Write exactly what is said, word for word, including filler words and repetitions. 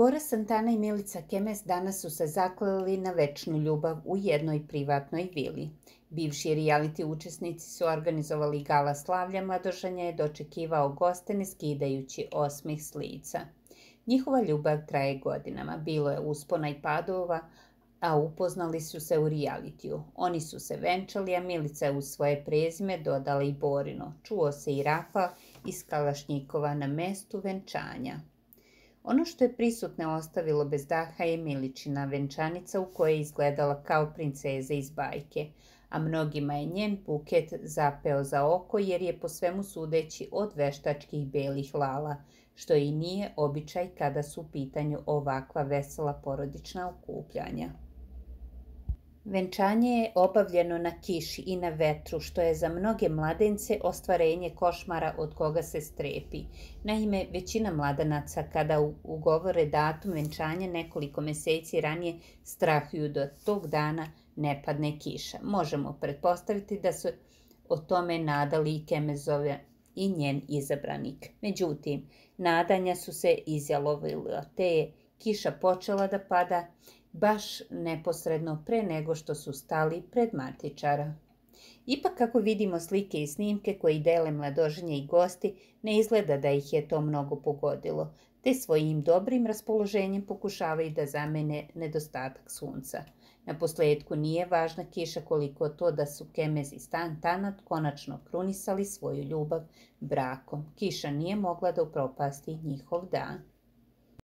Bora Santana i Milica Kemes danas su se zakleli na večnu ljubav u jednoj privatnoj vili. Bivši reality učesnici su organizovali gala slavlja, mladoženja je dočekivao goste ne skidajući osmeh s lica. Njihova ljubav traje godinama, bilo je uspona i padova, a upoznali su se u realitiju. Oni su se venčali, a Milica je u svoje prezime dodala i Borino. Čuo se i rafal iz kalašnjikova na mestu venčanja. Ono što je prisutne ostavilo bez daha je Miličina venčanica u kojoj je izgledala kao princeza iz bajke, a mnogima je njen buket zapeo za oko jer je po svemu sudeći od veštačkih belih lala, što i nije običaj kada su u pitanju ovakva vesela porodična okupljanja. Venčanje je obavljeno na kiši i na vetru, što je za mnoge mladence ostvarenje košmara od koga se strepi. Naime, većina mladenaca kada ugovore datum venčanja nekoliko meseci ranije strahuju da tog dana ne padne kiša. Možemo pretpostaviti da su o tome nadali i Kemezove i njen izabranik. Međutim, nadanja su se izjalovila, te je kiša počela da pada baš neposredno pre nego što su stali pred matičara. Ipak, kako vidimo slike i snimke koji dele mladoženje i gosti, ne izgleda da ih je to mnogo pogodilo, te svojim dobrim raspoloženjem pokušavaju da zamene nedostatak sunca. Na posledku nije važna kiša koliko to da su Kemez i Santana konačno krunisali svoju ljubav brakom. Kiša nije mogla da upropasti njihov dan.